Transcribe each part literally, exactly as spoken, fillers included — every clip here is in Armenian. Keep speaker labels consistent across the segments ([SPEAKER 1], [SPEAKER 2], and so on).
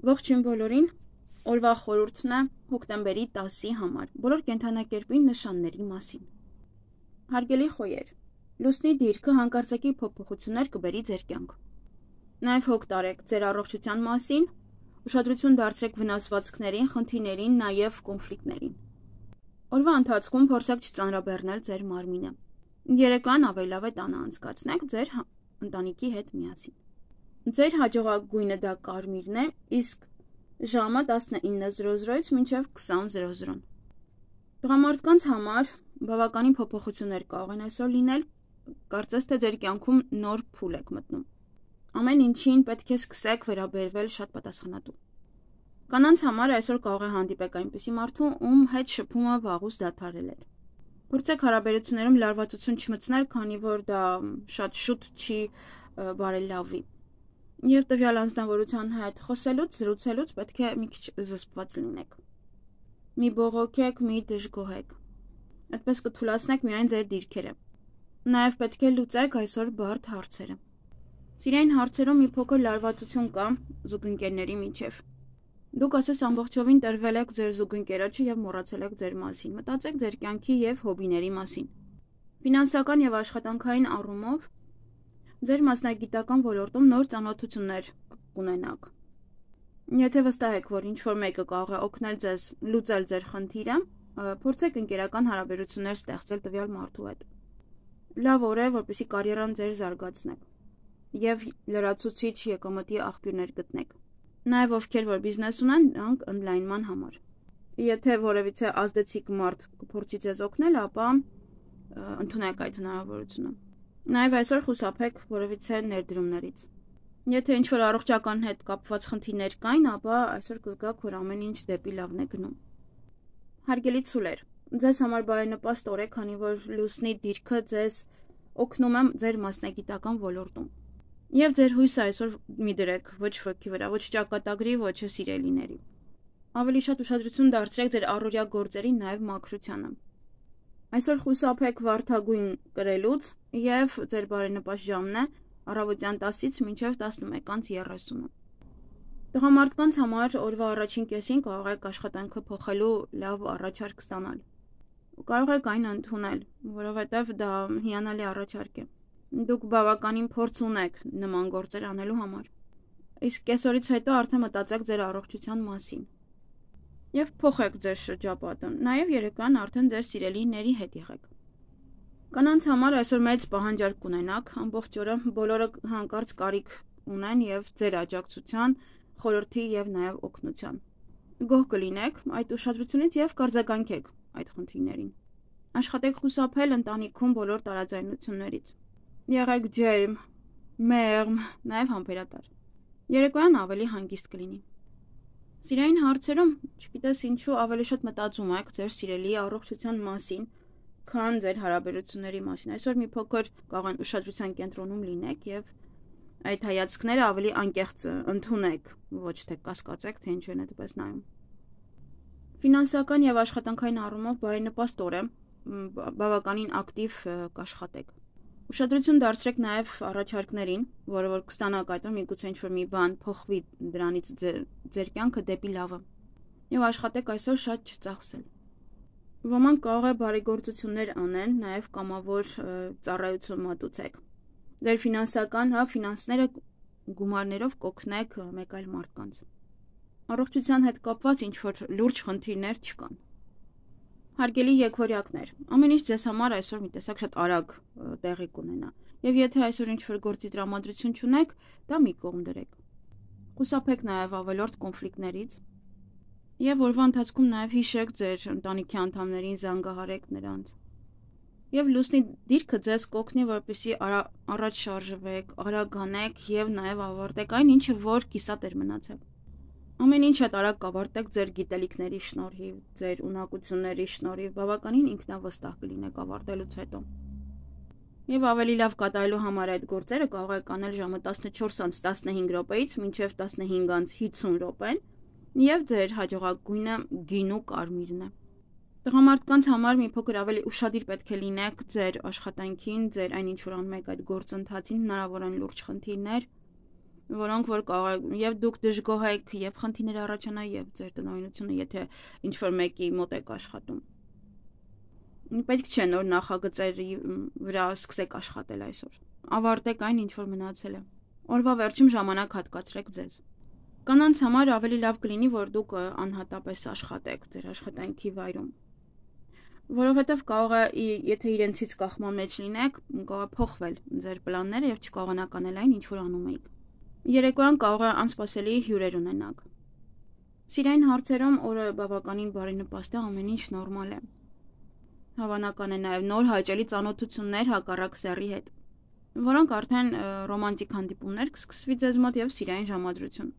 [SPEAKER 1] Ողջույն բոլորին, օրվա խորհուրդն է հոկտեմբերի տասի համար, բոլոր կենդանակերպի նշանների մասին։ Հարգելի խոյեր, լուսնի դիրքը հանկարծակի փոփոխություններ կբերի ձեր կյանք։ Նաև հոգ տարեք ձեր առողջության մասին, ուշադրություն դարձրեք վնասվածքներին, խնդիրներին, նաև կոնֆլիկտներին։ Օրվա ընթացքում փորձեք չծանրաբեռնել ձեր մարմինը։ Երեկոյան ավելի լավ է տանը անցկացնեք ձեր ընտանիքի հետ միասին։ Ձեր հաջողակ գույնը դա կարմիրն է, իսկ ժամը տասնինը զրո զրոից մինչև քսան զրո զրո։ Տղամարդկանց համար բավականին փոփոխություններ կարող են այսօր լինել, կարծես թե ձեր կյանքում նոր փուլ եք մտնում։ Ամեն ինչին պետք է սկսեք վերաբերվել շատ պատասխանատու։ Կանանց համար այսօր կարող է հանդիպեք այնպիսի մարդու, ում հետ շփումը վաղուց դադարել էր։ Փորձեք հարաբերություններում լարվածություն չմտցնել, քանի որ դա շատ շուտ չի բարելավի։ Եվ տվյալ անձնավորության հետ խոսելուց, զրուցելուց պետք է մի քիչ զսպված լինեք։ Մի բողոքեք, մի դժգոհեք։ Այդպես կթուլացնեք միայն ձեր դիրքերը։ Նաև պետք է լուծեք այսօր բարդ հարցերը։ Սիրային հարցերում մի փոքր լարվածություն կա զուգընկերների միջև։ Դուք ասես ամբողջովին տրվել եք ձեր զուգընկերոջը եւ մոռացել եք ձեր մասին։ Մտածեք ձեր կյանքի եւ հոբիների մասին։ Ֆինանսական եւ աշխատանքային առումով ձեր մասնագիտական ոլորտում նոր ծանոթություններ կունենաք։ Եթե վստահ եք, որ ինչ-որ մեկը կարող է օգնել ձեզ լուծել ձեր խնդիրը, փորձեք ընկերական հարաբերություններ ստեղծել տվյալ մարդու հետ։ Լավ օր է, որպեսզի կարիերան ձեր զարգացնեք եւ լրացուցիչ եկամտի աղբյուրներ գտնեք։ Նաև ովքեր որ բիզնես ունեն, դրանք ընդլայնման համար։ Եթե որևիցե ազդեցիկ մարդ կփորձի ձեզ օգնել, ապա ընդունեք այդ հնարավորությունը։ Նաև այսօր խուսափեք որևիցե ներդրումներից։ Եթե ինչ-որ առողջական հետ կապված խնդիրներ կային, ապա այսօր կզգաք, որ ամեն ինչ դեպի լավն է գնում։ Հարգելի ցուլեր, ձեզ համար բարենպաստ օր է, քանի որ լուսնի դիրքը ձեզ օգնում է ձեր մասնագիտական ոլորտում։ Եվ ձեր հույսը այսօր մի դրեք ոչ ոքի վրա, ոչ ճակատագրի, ոչ սիրելիների։ Ավելի շատ ուշադրություն դարձրեք ձեր առօրյա գործերին, նաև մաքրությանը։ Այսօր խուսափեք վարդագույն կրելուց եւ ձեր բարենպաստ ժամն է առավոտյան տասից մինչև տասնմեկից երեսունը։ Տղամարդկանց համար օրվա առաջին կեսին կարող եք աշխատանքը փոխելու լավ առաջարկ ստանալ։ Կարող եք այն ընդունել, որովհետև դա հիանալի առաջարկ է։ Դուք բավականին փորձ ունեք նման գործեր անելու համար։ Իսկ կեսօրից հետո արդեն մտածեք ձեր առողջության մասին։ Եվ փոխեք ձեր շրջապատը, նաև երեկոյան արդեն ձեր սիրելիների հետ եղեք։ Կանանց համար այսօր մեծ պահանջարկ կունենաք, ամբողջ օրը բոլորը հանկարծ կարիք ունեն եւ ձեր աջակցության, խորհրդի եւ նաև օգնության։ Գոհ կլինեք այդ ուշադրությունից եւ կարձագանքեք այդ խնդիրներին։ Աշխատեք խուսափել ընտանիքում բոլոր տարաձայնություններից։ Եղեք ջերմ, մեղմ, նաև համբերատար։ Երեկոյան ավելի հանգիստ կլինի։ Սիրային հարցերում, չգիտես ինչու, ավելի շատ մտածում եք ձեր սիրելի առողջության մասին, քան ձեր հարաբերությունների մասին։ Այսօր մի փոքր կարող են ուշադրության կենտրոնում լինեք եւ այդ հայացքները ավելի անկեղծ ընդունեք, ոչ թե կասկածեք, թե ինչու են այդպես նայում։ Ֆինանսական եւ աշխատանքային առումով բարենպաստ օր է, բավականին ակտիվ կաշխատեք։ Ուշադրություն դարձրեք նաև առաջարկներին, որը որ կստանաք այդտեղ միգուցե ինչ-որ մի բան փոխվի դրանից ձեր կյանքը դեպի լավը։ Եվ աշխատեք այսօր շատ չծախսել։ Ոմանք կարող է բարեգործություններ անեն, նաև կամավոր ծառայություն մատուցեք։ Ձեր ֆինանսական, հա, ֆինանսները գումարներով կօգնեք մեկ այլ մարդկանց։ Առողջության հետ կապված ինչ-որ լուրջ խնդիրներ չկան։ Հարգելի եկվորյակներ, ամեն ինչ ձեզ համար այսօր մի տեսակ շատ արագ տեղի կունենա, եւ եթե այսօր ինչ-որ գործի տրամադրություն չունեք, դա մի կողմ դրեք։ Խուսափեք նաև ավելորդ կոնֆլիկտներից, եւ օրվա ընթացքում նաև հիշեք ձեր ընտանիքի անդամներին, զանգահարեք նրանց։ Եվ լուսնի դիրքը ձեզ կօգնի, որպեսզի առաջ շարժվեք, արագ անեք եւ նաև ավարտեք այն ինչը որ կիսատ էր մնացել։ Ամեն ինչ շատ արագ կավարտեք ձեր գիտելիքների շնորհիվ, ձեր ունակությունների շնորհիվ, բավականին ինքնավստահ կլինեք ավարտելուց հետո։ Եվ ավելի լավ կատարելու համար այդ գործերը կարող եք անել ժամը տասնչորսից տասնհինգ րոպեից մինչև տասնհինգից հինգ րոպեն, եւ ձեր հաջողակ գույնը գինու կարմիրն է։ Տղամարդկանց համար մի փոքր ավելի ուշադիր պետք է լինեք ձեր աշխատանքին, ձեր այն ինչ որ անում եք այդ գործընթացին, հնարավոր են լուրջ խնդիրներ, որոնք որ կարող եւ դուք դժգոհ եք եւ խնդիրներ առաջանա եւ ձեր տնօրինությունը, եթե ինչ-որ մեկի մոտ եք աշխատում։ Պետք չէ նոր նախագծերի վրա սկսեք աշխատել այսօր։ Ավարտեք այն, ինչ որ մնացել է։ Օրվա վերջում ժամանակ հատկացրեք ձեզ։ Կանանց համար ավելի լավ կլինի, որ դուք անհատապես աշխատեք ձեր աշխատանքի վայրում։ Որովհետև կարող է, եթե իրենցից կախման մեջ լինեք, կարող է փոխվել ձեր պլանները եւ չկարողանաք անել այն, ինչ որ անում եք։ Երեկոյան կարող է անսպասելի հյուրեր ունենաք։ Սիրային հարցերում օրը բավականին բարենպաստ է, ամեն ինչ նորմալ է։ Հավանական է նաեւ նոր հաճելի ծանոթություններ հակառակ սեռի հետ, որոնք արդեն ռոմանտիկ հանդիպումներ կսկսվի ձեզ մոտ եւ սիրային ժամադրություն։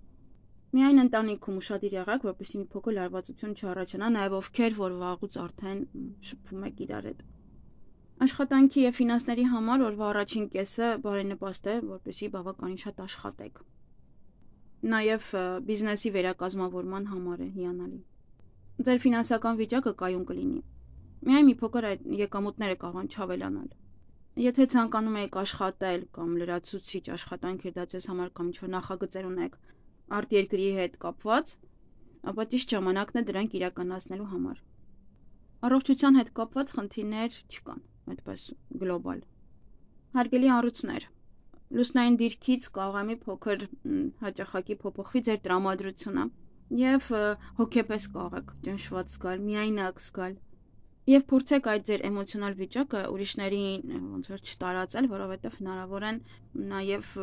[SPEAKER 1] Միայն ընտանիքում ուշադիր եղեք, որպեսզի մի փոքր լարվածություն չառաջանա, նաև ովքեր որ վաղուց արդեն շփվում եք իրար հետ։ Աշխատանքի եւ ֆինանսների համար օրվա առաջին կեսը բարենպաստ է, որպեսզի բավականին շատ աշխատեք։ Նաև բիզնեսի վերակազմավորման համար է հիանալի։ Ձեր ֆինանսական վիճակը կայուն կլինի։ Միայն մի փոքր այդ եկամուտները կարող են չավելանալ։ Եթե ցանկանում եք աշխատել կամ լրացուցիչ աշխատանք է դա ձեզ համար կամ ինչ-որ նախագծեր ունեք արտերկրի հետ կապված, ապա ճիշտ ժամանակն է դրանք իրականացնելու համար։ Առողջության հետ կապված խնդիրներ չկան, այդպես գլոբալ։ Հարգելի առույցներ, լուսնային դիրքից կարող է մի փոքր հաճախակի փոփոխվի ձեր տրամադրությունը եւ հոգեպես կարող եք ճնշված զգալ, միայնակ զգալ։ Եվ փորձեք այդ ձեր էմոցիոնալ վիճակը ուրիշներին ոնց որ չտարածել, որովհետեւ հնարավոր են նաեւ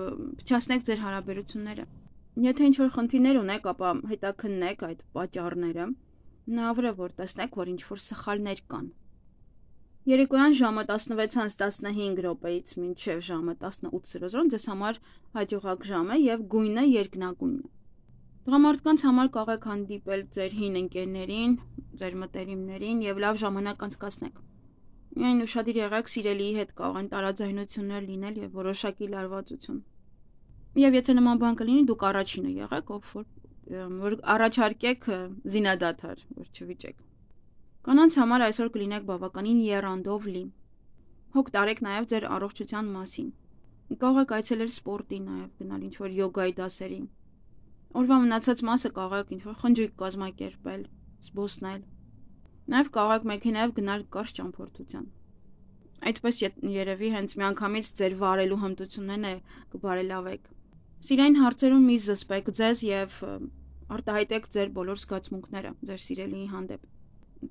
[SPEAKER 1] փչացնեք ձեր հարաբերությունները։ Եթե ինչ-որ խնդիրներ ունեք, ապա հետաքննեք այդ պատճառները, հնարավոր է որ տեսնեք, որ ինչ-որ սխալներ կան։ Երեկոյան ժամը տասնվեցից տասնհինգ րոպեից մինչև ժամը տասնութ զրոզրոն ձեզ համար հաջողակ ժամ է եւ գույնը երկնագույնն է։ Տղամարդկանց համար կարող եք հանդիպել ձեր հին ընկերներին, ձեր մտերիմներին եւ լավ ժամանակ անցկացնեք։ Միայն ուշադիր եղեք, սիրելիի հետ կարող են տարաձայնություններ լինել եւ որոշակի լարվածություն։ Եվ եթե նման բան կլինի, դուք առաջինը եղեք, ով որ, որ առաջարկեք զինադադար, որ չվիճեք։ Կանանց համար այսօր կլինեք բավականին եռանդով լի։ Հոգ տարեք նաև ձեր առողջության մասին։ Կարող եք այցելել սպորտի նաև, գնալ ինչ-որ յոգայի դասերի։ Օրվա մնացած մասը կարող եք ինչ-որ խնջույք կազմակերպել, զբոսնել։ Նաև կարող եք մեքենայով գնալ կարճ ճամփորդության։ Այդպես երևի հենց միանգամից ձեր վարելու հմտություններն կբարելավեք։ Սիրային հարցերում մի զսպեք ձեզ եւ արտահայտեք ձեր բոլոր զգացմունքները ձեր սիրելիի հանդեպ։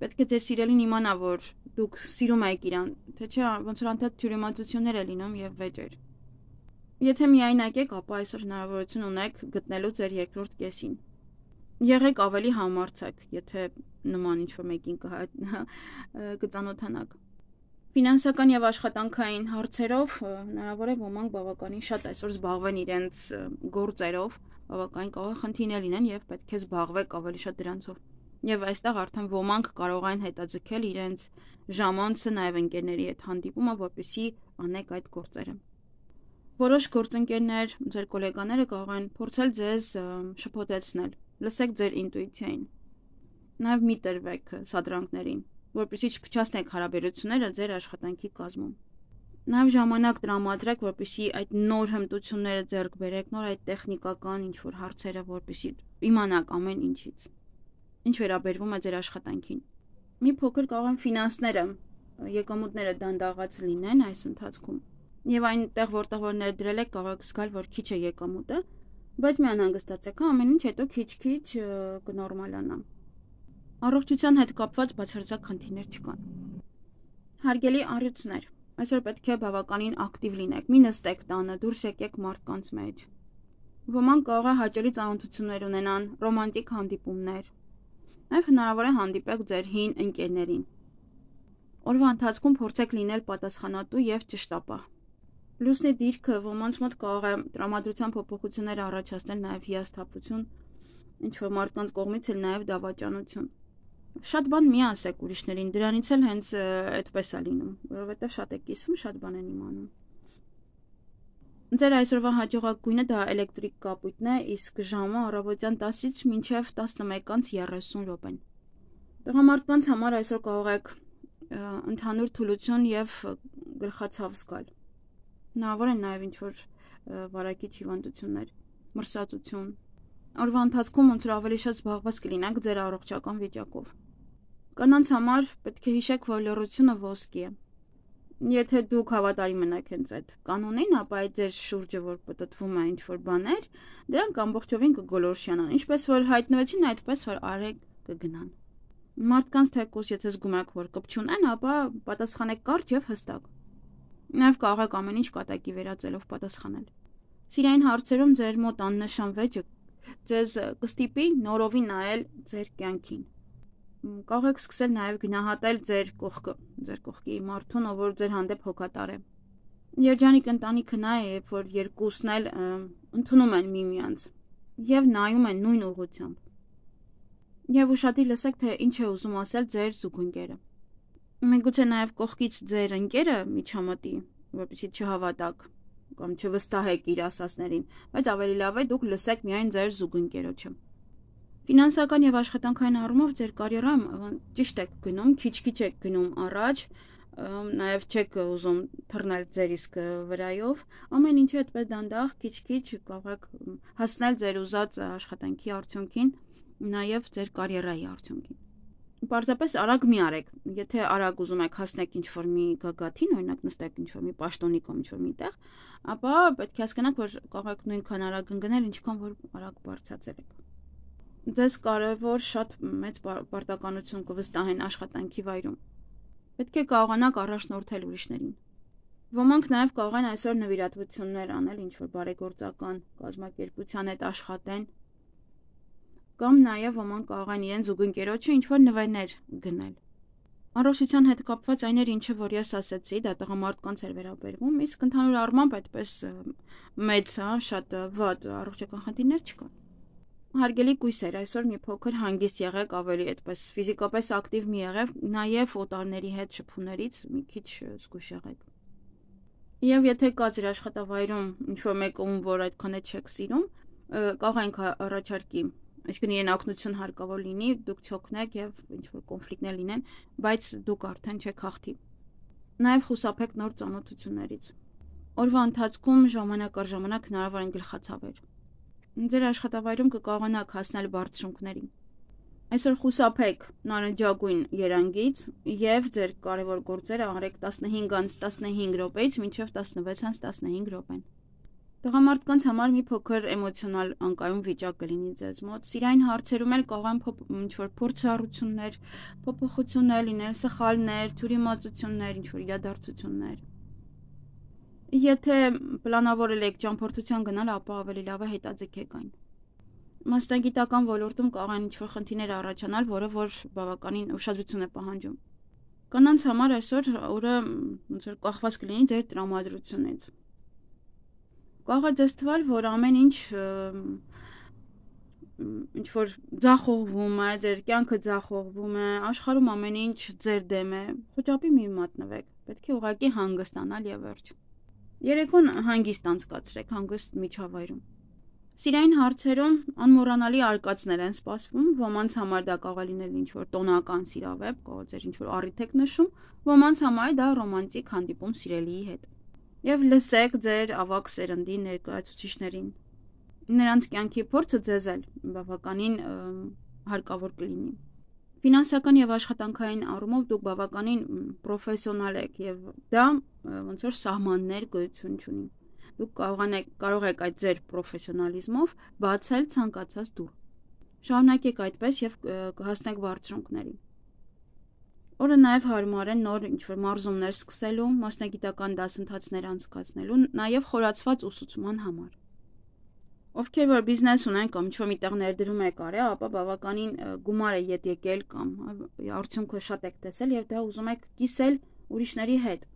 [SPEAKER 1] Պետք է ձեր սիրելին իմանա, որ դուք սիրում եք իրան, թե չէ ոնց որ անդադ թյուրիմացություններ է լինում եւ վեճեր։ Եթե միայնակ եք, ապա այսօր հնարավորություն ունեք գտնելու ձեր երկրորդ կեսին։ Եղեք ավելի համարձակ, եթե նման ինչ-որ մեկին կծանոթանաք։ Ֆինանսական եւ աշխատանքային հարցերով հնարավոր է ոմանք բավականին շատ այսօր զբաղվեն իրենց գործերով, բավականին կարող է խնդիրներ լինեն եւ պետք է զբաղվեք ավելի շատ դրանցով։ Եվ այստեղ արդեն ոմանք կարող են հետաձգել իրենց ժամանցը նաեւ ընկերների հետ հանդիպումը, որպեսզի անեք այդ գործերը։ Որոշ գործընկերներ, ձեր գոլեգաները կարող են փորձել ձեզ շփոթեցնել, լսեք ձեր ինտուիցիային։ Նաեւ մի տրվեք սադրանքներին, որպեսզի չփչացնեք հարաբերությունները ձեր աշխատանքի կազմում։ Նաեւ ժամանակ տրամադրեք, որպեսզի այդ նոր հմտությունները ձեռք բերեք, նոր այդ տեխնիկական ինչ-որ հարցերը, որպեսզի իմանաք ամեն ինչից։ Ինչ վերաբերվում է ձեր աշխատանքին։ Մի փոքր կարող են ֆինանսները, եկամուտները դանդաղած լինեն այս ընթացքում։ Եվ այնտեղ, որտեղ որ ներդրել եք, կարող եք զգալ, որ քիչ է եկամուտը, բայց մի անհանգստացեք, ամեն ինչ հետո քիչ-քիչ կնորմալանա։ Առողջության հետ կապված բացարձակ խնդիրներ չկան։ Հարգելի առյուծներ, այսօր պետք է բավականին ակտիվ լինեք, մի նստեք տանը, դուրս եկեք մարդկանց մեջ։ Ոմանք կարող է հաճելի ծանոթություններ ունենան, ռոմանտիկ հանդիպումներ։ Նաև հնարավոր է հանդիպեք ձեր հին ընկերներին։ Օրվա ընթացքում փորձեք լինել պատասխանատու եւ ճշտապահ։ Լուսնի դիրքը ոմանց մոտ կարող է տրամադրության փոփոխություններ առաջացնել նաև հիասթափություն, ինչ որ մարդկանց կողմից էլ նաև դավաճանություն։ Շատ բան մի ասեք ուրիշներին, դրանից էլ հենց այդպես է լինում, որովհետև շատ է կիսվում, շատ բան են իմանում։ Ձեր այսօրվա հաջողակ գույնը դա էլեկտրիկ կապույտն է, իսկ ժամը առավոտյան տասից մինչև տասնմեկ երեսուն րոպեն։ Տղամարդկանց համար այսօր կարող եք ընդհանուր թուլություն եւ գլխացավ զգալ։ Հնարավոր են նաև ինչ-որ վարակիչ հիվանդություններ։ մրսածություն։ Օրվա ընթացքում ոնց որ ավելի շատ զբաղված կլինեք ձեր առողջական վիճակով։ Կանանց համար պետք է հիշեք, որ լռությունը ոսկի է։ Եթե դուք հավատարիմ մնաք հենց այդ կանոնին, ապա այդ ձեր շուրջը, որ պտտվում է ինչ-որ բաներ, դրանք ամբողջովին կգոլորշիանան, ինչպես որ հայտնվեցին, այդպես որ արեք կգնան։ Մարդկանց թեկուզ եթե զգում եք, որ կապ չունեն, ապա պատասխանեք կարճ եւ հստակ։ Նաև կարող եք ամեն ինչ կատակի վերածելով պատասխանել։ Սիրային հարցերում ձեր մոտ աննշան վեճը ձեզ կստիպի նորովի նայել ձեր կյանքին։ Կարող եք սկսել նաև գնահատել ձեր կողքը, ձեր կողքի մարդուն, ով որ ձեր հանդեպ հոգատար է։ Երջանիկ ընտանիքը նա է, երբ որ երկուսն էլ ընդունում են միմյանց եւ նայում են նույն ուղղությամբ։ Եվ ուշադիր լսեք, թե ինչ է ուզում ասել ձեր զուգընկերը։ Միգուցե նաև կողքից ձեր ընկերը միջամտի, որպեսզի չհավատաք կամ չվստահեք իր ասածներին, բայց ավելի լավ է դուք լսեք միայն ձեր զուգընկերոջը։ Ֆինանսական եւ աշխատանքային առումով ձեր կարիերայում ճիշտ եք գնում, քիչ-քիչ եք գնում առաջ, նաև չեք ուզում թռնել ձեր իսկ վրայով, ամեն ինչը այդպես դանդաղ, քիչ-քիչ կարող եք հասնել ձեր ուզած աշխատանքի արդյունքին, նաև ձեր կարիերայի արդյունքին։ Պարզապես արագ մի արեք, եթե արագ ուզում եք հասնեք ինչ-որ մի գագաթին, օրինակ նստեք ինչ-որ մի պաշտոնի կամ ինչ-որ մի տեղ, ապա պետք է հասկանաք, որ կարող եք նույնքան արագ ընկնել, ինչքան որ արագ բարձրացել եք։ Ձեզ կարևոր շատ մեծ պարտականություն կվստահեն աշխատանքի վայրում։ Պետք է կարողանաք առաջնորդել ուրիշներին։ Ոմանք նաև կարող են այսօր նվիրատվություններ անել, ինչ-որ բարեգործական կազմակերպության հետ աշխատեն, կամ նաև ոմանք կարող են իրեն զուգընկերոջը ինչ-որ նվերներ գնել։ Առողջության հետ կապված այն էր, ինչը որ ես ասացի, դա տղամարդկանց էր վերաբերվում, իսկ ընդհանուր առմամբ այդպես մեծ, հա, շատ վատ առողջական խնդիրներ չկան։ Հարգելի կույսեր, այսօր մի փոքր հանգիստ եղեք, ավելի այդպես ֆիզիկապես ակտիվ մի եղեք, նաև օտարների հետ շփումներից մի քիչ զգույշ եղեք։ Եվ եթե կա ձեր աշխատավայրում ինչ-որ մեկը, ում որ այդքան էլ չեք սիրում, կարող ենք առաջարկի, այսինքն իրեն օգնություն հարկավոր լինի, դուք չօգնեք եւ ինչ-որ կոնֆլիկտներ լինեն, բայց դուք արդեն չեք հաղթի։ Նաև խուսափեք նոր ծանոթություններից։ Օրվա ընթացքում ժամանակ առ ժամանակ հնարավոր են գլխացավեր։ Ձեր աշխատավայրում կկարողանաք հասնել բարձրունքների։ Այսօր խուսափեք նարնջագույն երանգից եւ ձեր կարևոր գործերը արեք տասնհինգից տասնհինգ րոպեից մինչեւ տասնվեցից տասնհինգ րոպեն։ Տղամարդկանց համար մի փոքր էմոցիոնալ անկայուն վիճակ կլինի ձեզ մոտ։ Սիրային հարցերում էլ կարող են ինչ-որ փորձառություններ, փոփոխություններ լինել, սխալներ, թյուրիմացություններ, ինչ-որ իրադարձություններ։ Եթե պլանավորել եք ճամփորդության գնալ, ապա ավելի լավ է հետաձգեք այն։ Մասնագիտական ոլորտում կարող են ինչ-որ խնդիրներ առաջանալ, որը որ բավականին ուշադրություն է պահանջում։ Կանանց համար այսօր օրը ոնց որ կախված կլինի ձեր տրամադրությունից։ Կարող է ձեզ թվալ, որ ամեն ինչ ինչ որ ձախողվում է, ձեր կյանքը ձախողվում է, աշխարհում ամեն ինչ ձեր դեմ է, խոճապի մի մատնվեք, պետք է ուղղակի հանգստանալ եւ վերջ։ Երեկոն հանգիստ անցկացրեք, հանգիստ միջավայրում։ Սիրային հարցերում անմոռանալի արկածներ են սպասվում, ոմանց համար դա կարող է լինել ինչ-որ տոնական սիրավեպ, կարող ձեր ինչ-որ առիթ եք նշում, ոմանց համար դա ռոմանտիկ հանդիպում սիրելիի հետ։ Եվ լսեք ձեր ավագ սերնդի ներկայացուցիչներին։ Նրանց կյանքի փորձը ձեզ էլ բավականին հարկավոր կլինի։ Ֆինանսական եւ աշխատանքային առումով դուք բավականին պրոֆեսիոնալ եք եւ դա ոնց որ սահմաններ գոյություն չունի։ Դուք կարող եք կարող եք այդ ձեր պրոֆեսիոնալիզմով բացել ցանկացած դուռ։ Շարունակեք այդպես եւ կհասնեք բարձրունքների։ Օրը նաեւ հարմար է նոր ինչ-որ մարզումներ սկսելու, մասնագիտական դասընթացներ անցկացնելու, նաեւ խորացված ուսուցման համար։ Ովքեր որ բիզնես ունեն կամ ինչ-որ միտեղ ներդրում եք արել, ապա բավականին գումար է ետ եկել կամ արդյունքը շատ եք տեսել եւ դա ուզում եք կիսել ուրիշների հետ։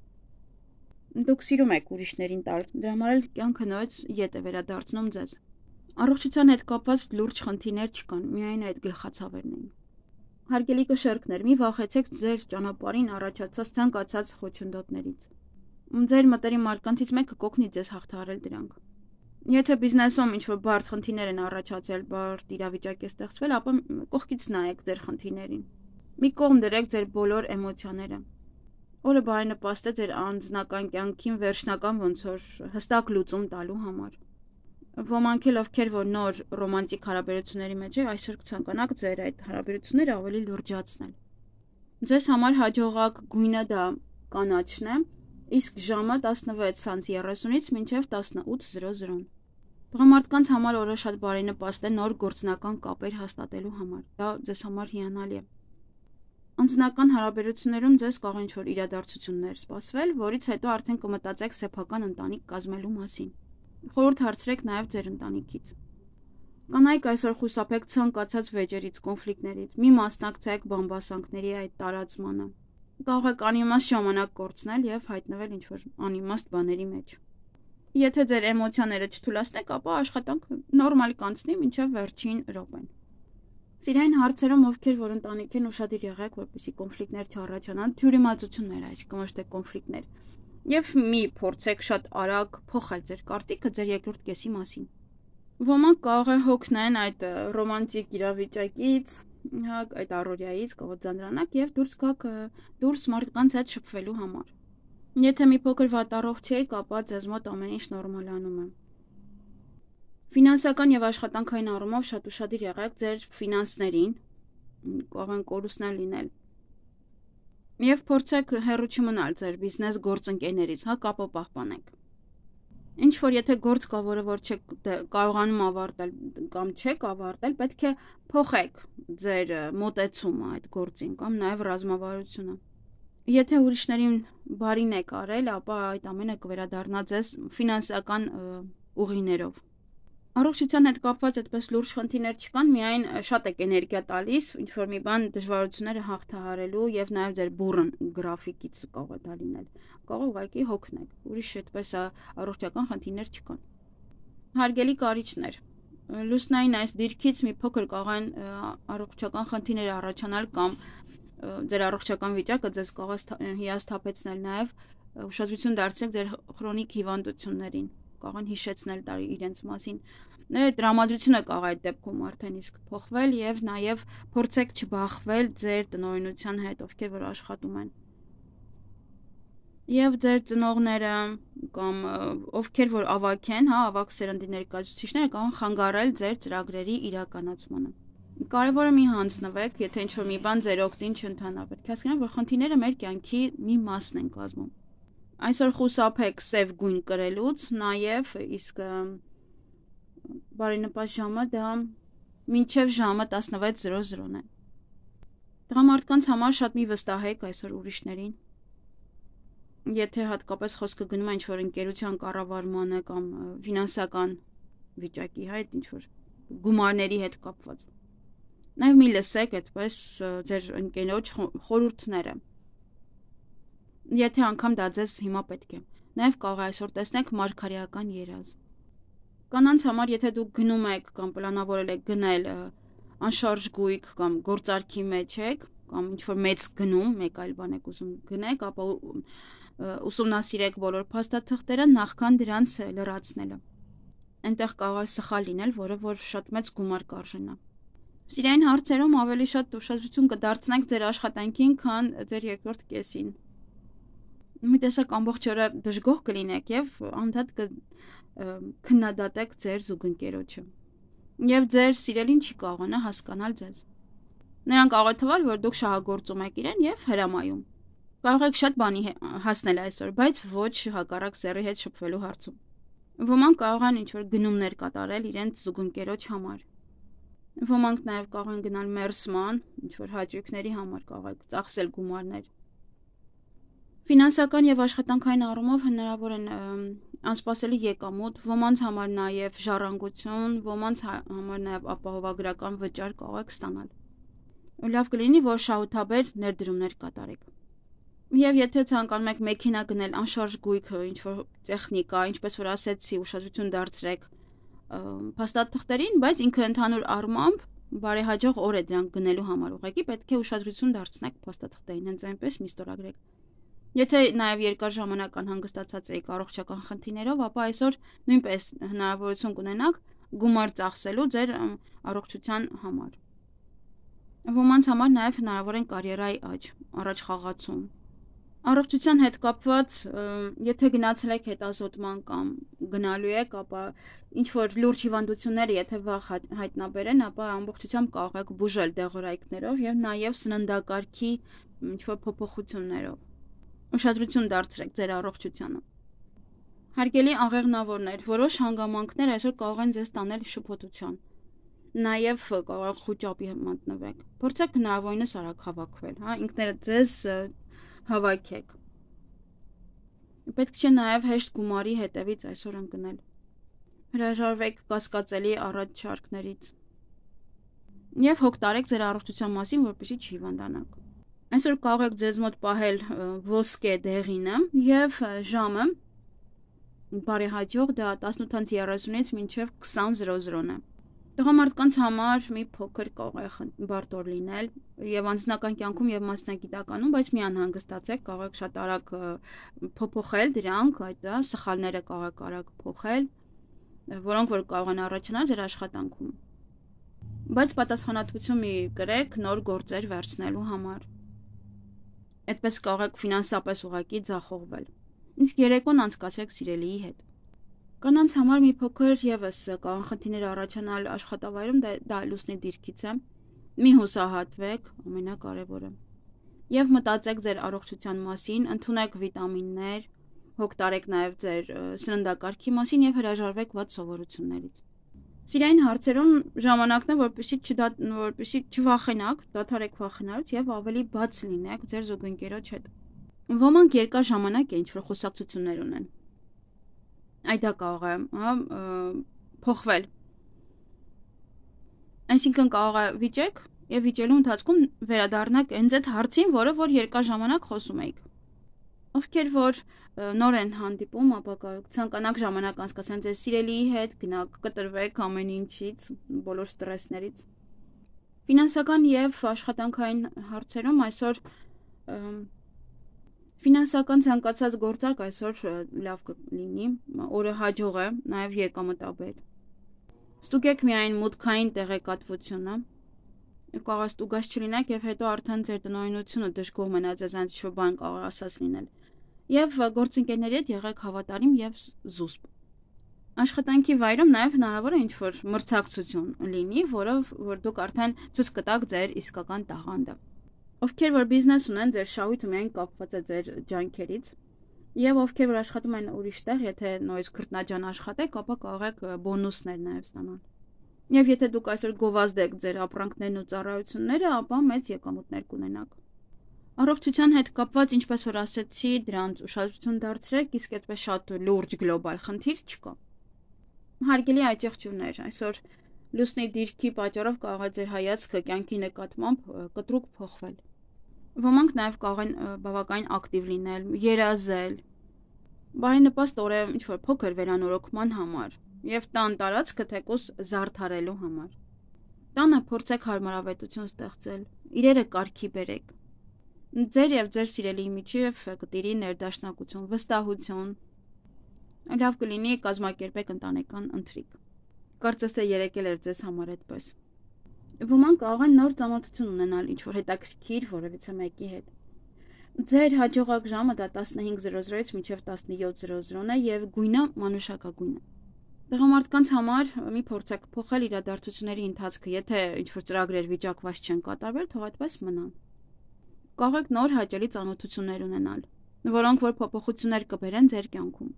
[SPEAKER 1] Դուք սիրում եք ուրիշներին տալ, դրա համար էլ կյանքը նույնց ետ է վերադարձնում ձեզ։ Առողջության հետ կապված լուրջ խնդիրներ չկան, միայն այդ գլխացավերն են։ Հարգելի կշերկներ, մի վախեցեք ձեր ճանապարհին առաջացած ցանկացած խոչընդոտներից։ Ձեր մտերի մարդկանցից մեկը կօգնի ձեզ հաղթահարել դրանք։ Եթե բիզնեսում ինչ-որ բարդ խնդիրներ են առաջացել, բարդ իրավիճակ է ստեղծվել, ապա կողքից նայեք ձեր խնդիրներին։ Մի կողմ դրեք ձեր բոլոր էմոցիաները։ Օրը բարենպաստ է ձեր անձնական կյանքին վերջնական ոնց որ հստակ լուծում տալու համար։ Ոմանք էլ ովքեր որ նոր ռոմանտիկ հարաբերությունների մեջ եք, այսօր կցանկանաք ձեր այդ հարաբերությունները ավելի լրջացնել։ Ձեզ համար հաջողակ գույնը դա կանաչն է, իսկ ժամը տասնվեց երեսունից մինչև տասնութ զրո զրո։ Տղամարդկանց համար օրը շատ բարենպաստ է նոր գործնական կապեր հաստատելու համար։ Դա ձեզ համար հիանալի է։ Անձնական հարաբերություններում ձեզ կարող ինչ-որ իրադարձություններ սպասվել, որից հետո արդեն կմտածեք սեփական ընտանիք կազմելու մասին։ Խորհուրդ հարցրեք նաև ձեր ընտանիքից։ Կանայք այսօր խուսափեք ցանկացած վեճերից, կոնֆլիկտներից, մի մասնակցեք բամբասանքների այդ տարածմանը։ Կարող եք անիմաստ ժամանակ կորցնել եւ հայտնվել ինչ-որ անիմաստ բաների մեջ։ Եթե ձեր էմոցիաները չթուլացնեք, ապա աշխատանքը նորմալ կանցնի մինչև վերջին րոպեն։ Սիրային հարցերում ովքեր որ ընտանիք են ուշադիր եղեք, որպեսզի կոնֆլիկտներ չառաջանան, թյուրիմացություններ, այսինքն ոչ թե կոնֆլիկտներ։ Եվ մի փորձեք շատ արագ փոխել ձեր կարծիքը ձեր երկրորդ կեսի մասին։ Ոմանք կարող է հոգնեն այդ ռոմանտիկ իրավիճակից, հա, այդ առօրյայից, կարող ձանրանաք եւ դուրս գաք դուրս մարդկանց հետ շփվելու համար։ Եթե մի փոքր վատառողջ եք, ապա ձեզ մոտ ամեն ինչ նորմալանում է։ Ֆինանսական եւ աշխատանքային առումով շատ ուշադիր եղեք ձեր ֆինանսներին, կարող են կորուստներ լինել։ Եվ փորձեք հեռու չմնալ ձեր բիզնես գործընկերներից, հա, կապը պահպանեք։ Ինչ որ եթե գործ կա, որը որ չեք կարողանում ավարտել կամ չեք ավարտել, պետք է փոխեք ձեր մոտեցումը այդ գործին կամ նաև ռազմավարությունը։ Եթե ուրիշներին բարին եք արել, ապա այդ ամենը կվերադառնա ձեզ ֆինանսական ուղիներով։ Առողջության հետ կապված այդպես լուրջ խնդիրներ չկան, միայն շատ եք էներգիա տալիս, ինչ որ մի բան դժվարությունները հաղթահարելու եւ նաեւ ձեր բուրըն գրաֆիկից կարող է դա լինել։ Կարող ուղղակի հոգնեք։ Ուրիշ այդպես առողջական խնդիրներ չկան։ Հարգելի կարիճներ, լուսնային այս դիրքից մի փոքր կարող են առողջական խնդիրներ առաջանալ կամ ձեր առողջական վիճակը ձեզ կարող է հիասթափեցնել նաեւ ուշադրություն դարձրեք ձեր քրոնիկ հիվանդություններին, կարող են հիշեցնել դա իրենց մասին։ Տրամադրությունը կարող է այդ դեպքում արդեն իսկ փոխվել եւ նաեւ փորձեք չբախվել ձեր տնօրինության հետ, ովքեր որ աշխատում են։ Եվ ձեր ծնողները կամ ովքեր որ ավակ են, հա, ավակ սերնդի ներկայացուցիչները կարող են խանգարել ձեր ծրագրերի իրականացմանը։ Կարևորը մի հանձնվեք, եթե ինչ-որ մի բան ձեր օգտին չընթանա, պետք է հասկանաք, որ խնդիրները մեր կյանքի մի մասն են կազմում։ Այսօր խուսափեք սև գույն կրելուց, նաև իսկ բարենպաստ ժամը դա մինչև ժամը տասնվեց զրո զրոն է։ Տղամարդկանց համար շատ մի վստահեք այսօր ուրիշներին։ Եթե հատկապես խոսքը գնում է ինչ-որ ընկերության կառավարմանը կամ ֆինանսական վիճակի հետ, ինչ-որ գումարների հետ կապված։ Նաև մի լսեք այդպես ձեր ընկերոջ խորհուրդները։ Եթե անգամ դա ձեզ հիմա պետք է։ Նաև կարող է այսօր տեսնեք մարգարեական երազ։ Կանանց համար, եթե դուք գնում եք կամ պլանավորել եք գնել անշարժ գույք կամ գործարքի մեջ եք, կամ ինչ-որ մեծ գնում, մեկ այլ բան եք ուզում գնեք, ապա ուսումնասիրեք բոլոր փաստաթղթերը նախքան դրանց լրացնելը։ Այնտեղ կարող է սխալ լինել, որը որ շատ մեծ գումար կարժենա։ Սիրային հարցերում ավելի շատ ուշադրություն կդարձնեք ձեր աշխատանքին, քան ձեր երկրորդ կեսին։ Մի տեսակ ամբողջ օրը դժգոհ կլինեք եւ անդադ կքննադատեք ձեր զուգընկերոջը։ Եվ ձեր սիրելին չի կարողանա հասկանալ ձեզ։ Նրան կարող է թվալ, որ դուք շահագործում եք իրեն եւ հրամայում։ Կարող եք շատ բանի հասնել այսօր, բայց ոչ հակառակ սեռի հետ շփվելու հարցում։ Ոմանք կարող են ինչ-որ գնումներ կատարել իրենց զուգընկերոջ համար։ Ոմանք նաեւ կարող են գնալ մերսման, ինչ-որ հաճույքների համար կարող եք ծախսել գումարներ։ Ֆինանսական եւ աշխատանքային առումով հնարավոր են անսպասելի եկամուտ, ոմանց համար նաեւ ժառանգություն, ոմանց համար նաեւ ապահովագրական վճար կարող եք ստանալ։ Լավ կլինի, որ շահութաբեր ներդրումներ կատարեք։ Եվ եթե ցանկանում եք մեքենա գնել, անշարժ գույք, ինչ-որ տեխնիկա, ինչպես որ ասեցի, ուշադրություն դարձրեք փաստաթղթերին, բայց ինքը ընդհանուր առմամբ բարեհաջող օր է դրանք գնելու համար, ուղղակի պետք է ուշադրություն դարձնեք փաստաթղթերին, հենց այնպես մի ստորագրեք։ Եթե նաև երկար ժամանակ անհանգստացած եք առողջական խնդիրներով, ապա այսօր նույնպես հնարավորություն կունենաք գումար ծախսելու ձեր առողջության համար։ Ոմանց համար նաև հնարավոր են կարիերայի աճ, առաջ խաղացում։ Առողջության հետ կապված, եթե գնացել եք հետազոտման կամ գնալու եք, ապա ինչ որ լուրջ հիվանդությունները, եթե վաղ հայտնաբերեն, ապա ամբողջությամբ կարող եք բուժել դեղորայքներով եւ նաեւ սննդակարգի ինչ որ փոփոխություններով։ Ուշադրություն դարձրեք ձեր առողջությանը։ Հարգելի աղեղնավորներ, որոշ հանգամանքներ այսօր կարող են ձեզ տանել շփոթության։ Նաեւ կարող խոճապի մատնվեք։ Փորձեք հնարավորինս արագ հավաքվել, հա, ինքներդ ձեզ հավաքեք։ Պետք չէ նաև հեշտ գումարի հետևից այսօր ընկնել։ Հրաժարվեք կասկածելի առաջարկներից։ Եվ հոգ տարեք ձեր առողջության մասին, որպեսզի չհիվանդանաք։ Այսօր կարող եք ձեզ մոտ պահել ոսկե դեղինը եւ ժամը բարեհաջող դա տասնութ երեսունից մինչև քսան զրո-զրոն է։ Տղամարդկանց համար մի փոքր կարող է բարդոր լինել եւ անձնական կյանքում եւ մասնագիտականում, բայց մի անհանգստացեք, կարող եք շատ արագ փոփոխել դրանք, այդ դա սխալները կարող եք արագ փոխել, որոնք որ կարող են առաջանալ ձեր աշխատանքում։ Բայց պատասխանատվություն մի կրեք նոր գործեր վերցնելու համար։ Այդպես կարող եք ֆինանսապես ուղղակի ձախողվել։ Իսկ երեկոն անցկացրեք սիրելիի հետ։ Կանանց համար մի փոքր եւս կարող խնդիրներ առաջանալ աշխատավայրում, դա լուսնի դիրքից է։ Մի հուսահատվեք, ամենակարևորը։ Եվ մտածեք ձեր առողջության մասին, ընդունեք վիտամիններ, հոգ տարեք նաեւ ձեր սննդակարգի մասին եւ հրաժարվեք վատ սովորություններից։ Սիրային հարցերում ժամանակն է, որպեսզի որպեսզի չվախենաք, դադարեք վախենալուց եւ ավելի բաց լինեք ձեր զուգընկերոջ հետ։ Ոմանք երկար ժամանակ է ինչ-որ խոսակցություններ ունեն։ Այդ դա կարող է, հա, փոխվել։ Այսինքն կարող է վիճեք եւ վիճելու ընթացքում վերադառնաք հենց այդ հարցին, որը որ երկար ժամանակ խոսում եք։ Ովքեր որ նոր են հանդիպում, ապա ցանկանաք ժամանակ անցկացնել ձեր սիրելիի հետ, գնաք կտրվեք ամեն ինչից, բոլոր ստրեսներից։ Ֆինանսական եւ աշխատանքային հարցերում այսօր ֆինանսական ցանկացած գործարք այսօր լավ կլինի, օրը հաջող է, նաեւ եկամտաբեր։ Ստուգեք միայն մուտքային տեղեկատվությունը, կարող է ստուգած չլինեք եւ հետո արդեն ձեր տնօրինությունը դժգոհ մնա ձեզ ինչ-որ բան կարող ասած լինել։ Եվ գործընկերների հետ եղեք հավատարիմ եւ զուսպ։ Աշխատանքի վայրում նաեւ հնարավոր է ինչ-որ մրցակցություն լինի, որով որ դուք արդեն ցույց կտաք ձեր իսկական տաղանդը։ Ովքեր որ բիզնես ունեն, ձեր շահույթը միայն կապված է ձեր ջանքերից, եւ ովքեր որ աշխատում են ուրիշ տեղ, եթե նույնիսկ քրտնաջան աշխատեք, ապա կարող եք բոնուսներ նաեւ ստանալ։ Եվ եթե դուք այսօր գովազդեք ձեր ապրանքներն ու ծառայությունները, ապա մեծ եկամուտներ կունենաք։ Առողջության հետ կապված, ինչպես որ ասացի, դրանց ուշադրություն դարձրեք, իսկ այդպես շատ լուրջ գլոբալ խնդիր չկա։ Հարգելի այցեղջյուրներ, այսօր լուսնի դիրքի պատճառով կարող է ձեր հայացքը կյանքի նկատմամբ կտրուկ փոխվել։ Ոմանք նաև կարող են բավականին ակտիվ լինել, երազել, բարենպաստ օր է ինչ-որ փոքր վերանորոգման համար եւ տան տարածքը թեկուզ զարդարելու համար։ Տանը փորձեք հարմարավետություն ստեղծել, իրերը կարգի բերեք։ Ձեր եւ ձեր սիրելիի միջև կտիրի ներդաշնակություն, վստահություն։ Լավ կլինի կազմակերպեք ընտանեկան ընթրիք։ Կարծես թե երեկել էր ձեզ համար այդպես։ Ոմանք կարող են նոր ծանոթություն ունենալ ինչ-որ հետաքրքիր որևիցե մեկի հետ։ Ձեր հաջողակ ժամը դա տասնհինգ զրո զրոից մինչև տասնյոթ զրո զրոն է եւ գույնը մանուշակագույն է։ Տղամարդկանց համար մի փորձեք փոխել իրադարձությունների ընթացքը, եթե ինչ-որ ծրագրեր վիճակված չեն կատարվել, թող այդպես մնան։ Կարող եք նոր հաճելի ծանոթություններ ունենալ, որոնք որ փոփոխություններ կբերեն ձեր կյանքում։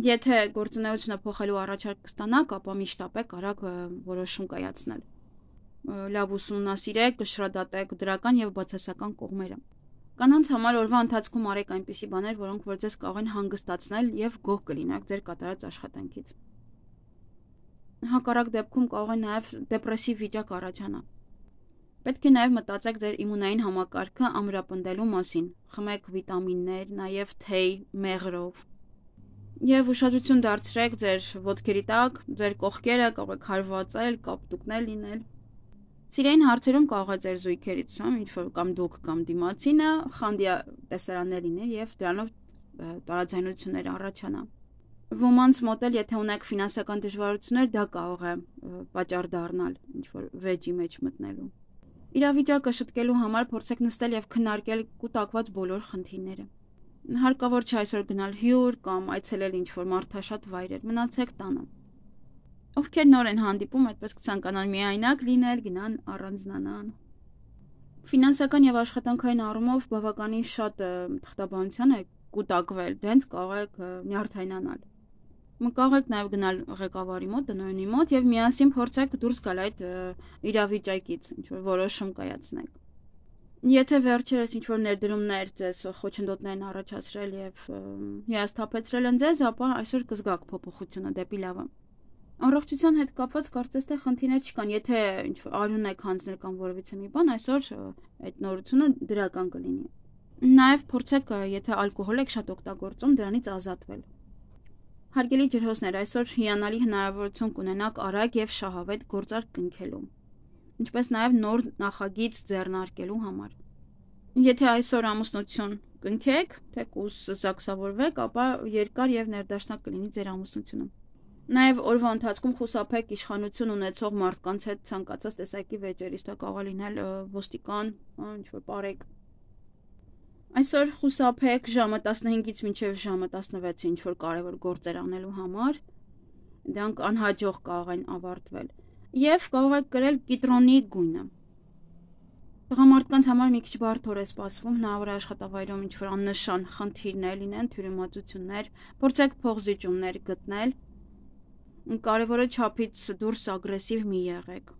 [SPEAKER 1] Եթե գործունեությունը փոխելու առաջարկ կստանաք, ապա միշտապեք արագ որոշում կայացնել։ Լավ ուսումնասիրեք, կշռադատեք դրական եւ բացասական կողմերը։ Կանանց համար օրվա ընթացքում արեք այնպիսի բաներ, որոնք որ ձեզ կարող են հանգստացնել եւ գոհ կլինեք ձեր կատարած աշխատանքից։ Հակառակ դեպքում կարող է նաեւ դեպրեսիվ վիճակ առաջանալ։ Պետք է նաև մտածեք ձեր իմունային համակարգը ամրապնդելու մասին, խմեք վիտամիններ, նաև թեյ, մեղրով։ Եվ ուշադրություն դարձրեք ձեր ոտքերի տակ, ձեր կողքերը կարող եք հարվածել, կապտուկներ լինել։ Սիրային հարցերում կարող է ձեր զույգերից ինչ-որ կամ դուք կամ դիմացինը խանդիա տեսարաններ լինել եւ դրանով տարաձայնություններ առաջանա։ Ոմանց մոտ էլ եթե ունեք ֆինանսական դժվարություններ, դա կարող է պատճառ դառնալ ինչ-որ վեճի մեջ մտնելու։ Իրավիճակը շտկելու համար փորձեք նստել եւ քննարկել կուտակված բոլոր խնդիրները։ Հարկավոր չէ այսօր գնալ հյուր կամ այցելել ինչ-որ մարդաշատ վայրեր, մնացեք տանը։ Ովքեր նոր են հանդիպում, այդպես կցանկանան միայնակ լինել, գնան առանձնանան։ Ֆինանսական եւ աշխատանքային առումով բավականին շատ թղթաբանության է կուտակվել, դենց կարող եք նյարդայնանալ։ Կարող եք նաեւ գնալ ղեկավարի մոտ, տնօրենի մոտ եւ միասին փորձեք դուրս գալ այդ իրավիճակից, ինչ-որ որոշում կայացնեք։ Եթե վերջերս ինչ-որ ներդրումներ ձեզ խոչընդոտներ են առաջացրել եւ հիասթափեցրել են ձեզ, ապա այսօր կզգաք փոփոխությունը դեպի լավը։ Առողջության հետ կապված կարծես թե խնդիրներ չկան, եթե ինչ-որ արյուն եք հանձնել կամ որևիցե մի բան, այսօր այդ նորությունը դրական կլինի։ Նաեւ փորձեք, եթե ալկոհոլ եք շատ օգտագործում, դրանից ազատվել։ Հարգելի ջրհոսներ, այսօր հիանալի հնարավորություն կունենաք արագ եւ շահավետ գործարք կնքելու, ինչպես նաեւ նոր նախագիծ ձեռնարկելու համար։ Եթե այսօր ամուսնություն կնքեք, թեկուզ զաքսավորվեք, ապա երկար եւ ներդաշնակ կլինի ձեր ամուսնությունը։ Նաեւ օրվա ընթացքում խուսափեք իշխանություն ունեցող մարդկանց հետ ցանկացած տեսակի վեճերից, դա կարող է լինել ոստիկան, ինչ-որ պարեկ։ Այսօր խուսափեք ժամը տասնհինգից մինչև ժամը տասնվեցը ինչ-որ կարևոր գործեր անելու համար, դրանք անհաջող կարող են ավարտվել, եւ կարող եք կրել կիտրոնի գույնը։ Տղամարդկանց համար մի քիչ բարդ օր է սպասվում, հնարավոր է աշխատավայրում ինչ-որ աննշան խնդիրներ լինեն, թյուրիմացություններ, փորձեք փոխզիջումներ գտնել։ Կարևորը չափից դուրս ագրեսիվ մի եղեք։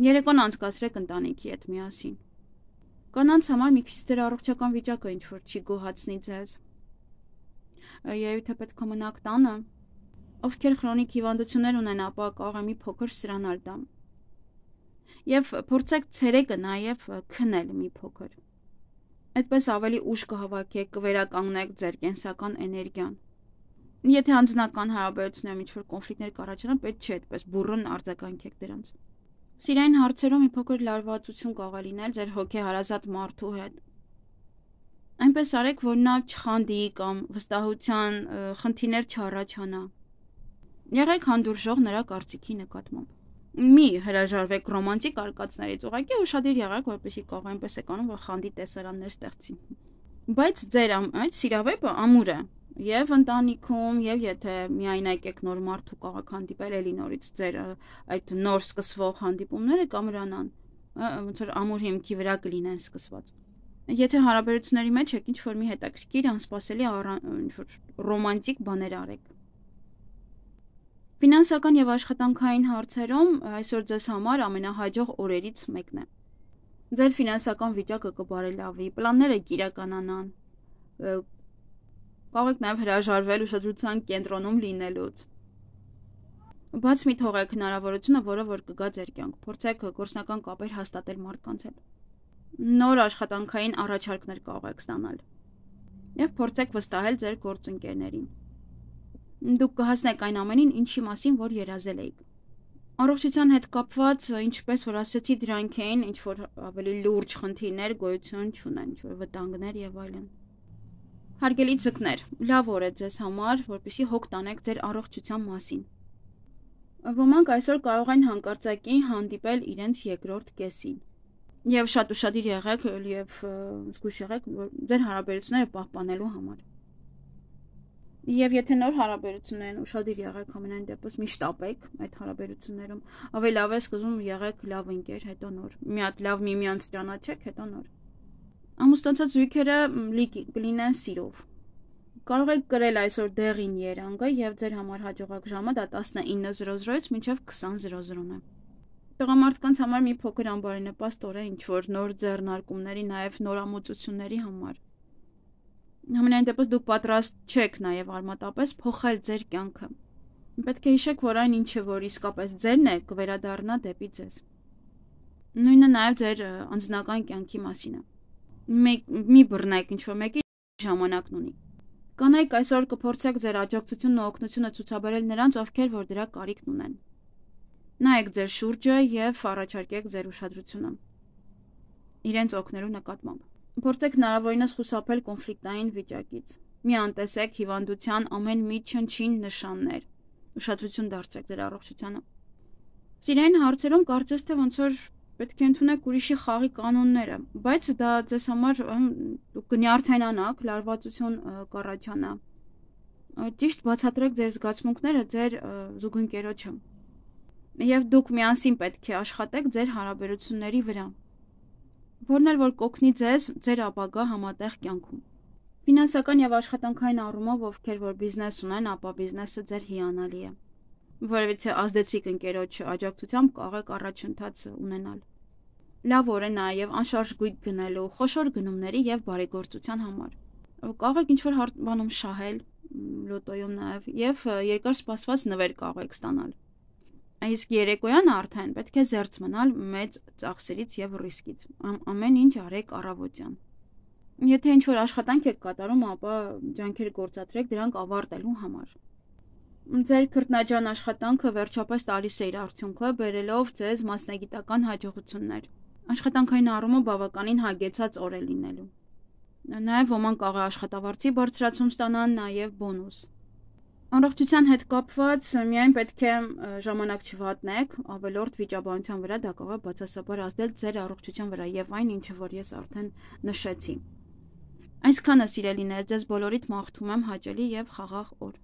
[SPEAKER 1] Երեկոն անցկացրեք ընտանիքի հետ միասին։ Կանանց համար մի քիչ ձեր առողջական վիճակը ինչ-որ չի գոհացնի ձեզ։ Երևի թե պետք է մնաք տանը։ Ովքեր քրոնիկ հիվանդություններ ունեն, ապա կարող է մի փոքր սրանալ դա։ Եվ փորձեք ցերեկը նաև քնել մի փոքր։ Այդպես ավելի ուժ կհավաքեք, կվերականգնեք ձեր կենսական էներգիան։ Եթե անձնական հարաբերություններում ինչ-որ կոնֆլիկտներ կառաջանան, պետք չէ այդպես բուռն արձագանքեք դրանց։ Սիրային հարցերում մի փոքր լարվածություն կարող է լինել ձեր հոգեհարազատ մարդու հետ։ Այնպես արեք, որ նա չխանդի կամ վստահության խնդիրներ չառաջանա։ Եղեք հանդուրժող նրա կարծիքի նկատմամբ։ Մի հրաժարվեք ռոմանտիկ արկածներից, ուղղակի ուշադիր եղեք, որպեսզի կարող այնպես եք անում, որ խանդի տեսարաններ ստեղծի։ Բայց ձեր այդ սիրավեպը ամուր է, եւ ընտանիքում, եւ եթե միայնակ եք նոր մարդու կարող հանդիպել էլի նորից ձեր այդ նոր սկսվող հանդիպումները կամրանան, ոնց որ ամուր հիմքի վրա կլինեն սկսված։ Եթե հարաբերությունների մեջ եք ինչ-որ մի հետաքրքիր, անսպասելի ինչ-որ ռոմանտիկ բաներ արեք։ Ֆինանսական եւ աշխատանքային հարցերում այսօր ձեզ համար ամենահաջող օրերից մեկն է։ Ձեր ֆինանսական վիճակը կբարելավի, պլանները կիրականանան։ Կարող եք նաեւ հրաժարվել ուշադրության կենտրոնում լինելուց։ Բաց մի թողեք հնարավորությունը, որը որ կգա ձեր կյանք։ Փորձեք գործնական կապեր հաստատել մարդկանց հետ։ Նոր աշխատանքային առաջարկներ կարող եք ստանալ։ Եվ փորձեք վստահել ձեր գործընկերներին։ Դուք կհասնեք այն ամենին, ինչի մասին որ երազել եք։ Առողջության հետ կապված, ինչպես որ ասացի, դրանք էին ինչ որ ավելի լուրջ խնդիրներ գոյություն չունեն, ինչ որ վտանգներ եւ այլն։ Հարգելի ձկներ, լավ օր է ձեզ համար, որպեսզի հոգ տանեք ձեր առողջության մասին։ Ոմանք այսօր կարող են հանկարծակի հանդիպել իրենց երկրորդ կեսին։ Եվ շատ ուշադիր եղեք եւ զգույշ եղեք ձեր հարաբերությունները պահպանելու համար։ Եվ եթե նոր հարաբերություններ են, ուշադիր եղեք ամենայն դեպս միշտ ապեք այդ հարաբերություններում, ավելի լավ է սկզբում եղեք լավ ընկեր, հետո նոր։ Մի հատ լավ միմյանց ճանաչեք, հետո նոր։ Ամուսնացած զույգերը կլինեն սիրով։ Կարող եք կրել այսօր դեղին երանգը եւ ձեր համար հաջողակ ժամը դա տասնինը զրո զրոից մինչեւ քսան զրո զրոն է։ Տղամարդկանց համար մի փոքր անբարենպաստ օր է, ինչ որ նոր ձեռնարկումների, նաեւ նորամուծությունների համար։ Համենայն դեպս դուք պատրաստ չեք նաև արմատապես փոխել ձեր կյանքը։ Պետք է հիշեք, որ այն ինչը որ իսկապես ձերն է, կվերադառնա դեպի ձեզ։ Նույնը նաև ձեր անձնական կյանքի մասին է։ Մի բռնեք ինչ որ մեկի ժամանակն ունի։ Կանայք այսօր կփորձեք ձեր աջակցությունն ու օգնությունը ցուցաբերել նրանց, ովքեր որ դրա կարիքն ունեն։ Նայեք ձեր շուրջը եւ առաջարկեք ձեր ուշադրությունը իրենց օգնելու նկատմամբ։ Փորձեք հնարավորինս խուսափել կոնֆլիկտային վիճակից։ Մի անտեսեք հիվանդության ամեն մի չնչին նշաններ։ Ուշադրություն դարձրեք ձեր առողջությանը։ Սիրային հարցերում կարծես թե ոնց որ պետք է ընդունեք ուրիշի խաղի կանոնները, բայց դա ձեզ համար կնյարդայնանաք, լարվածություն կառաջանա։ Ճիշտ բացատրեք ձեր զգացմունքները ձեր զուգընկերոջը։ Եվ դուք միասին պետք է աշխատեք ձեր հարաբերությունների վրա, որն էլ որ կօգնի ձեզ ձեր ապագա համատեղ կյանքում։ Ֆինանսական եւ աշխատանքային առումով ովքեր որ բիզնես ունեն, ապա բիզնեսը ձեր հիանալի է, որովհետեւ ազդեցիկ ընկերոջ աջակցությամբ կարող առաջընթաց ունենալ։ Լավ օր է նաեւ անշարժ գույք գնելու, խոշոր գնումների եւ բարեգործության համար։ Կարող եք ինչ-որ բանում շահել, լոտոյում նաեւ, եւ երկար սպասված նվեր կարող եք ստանալ։ Իսկ երեկոյան արդեն պետք է զերծ մնալ մեծ ծախսերից եւ ռիսկից։ Ամեն ինչ արեք առավոտյան։ Եթե ինչ-որ աշխատանք եք կատարում, ապա ջանքեր գործադրեք դրանք ավարտելու համար։ Ձեր քրտնաջան աշխատանքը վերջապես տալիս է իր արդյունքը, բերելով ձեզ մասնագիտական հաջողություններ։ Աշխատանքային առումով բավականին հագեցած օր է լինելու։ Նաև ոմանք կարող է աշխատավարձի բարձրացում ստանան, նաև բոնուս։ Առողջության հետ կապված միայն պետք է ժամանակ չվատնեք, ավելորդ վիճաբանության վրա դա կարող է բացասաբար ազդել ձեր առողջության վրա եւ այն ինչը որ ես արդեն նշեցի։ Այսքանը սիրելիներ, ձեզ բոլորիդ մաղթում եմ հաճելի եւ խաղաղ օր։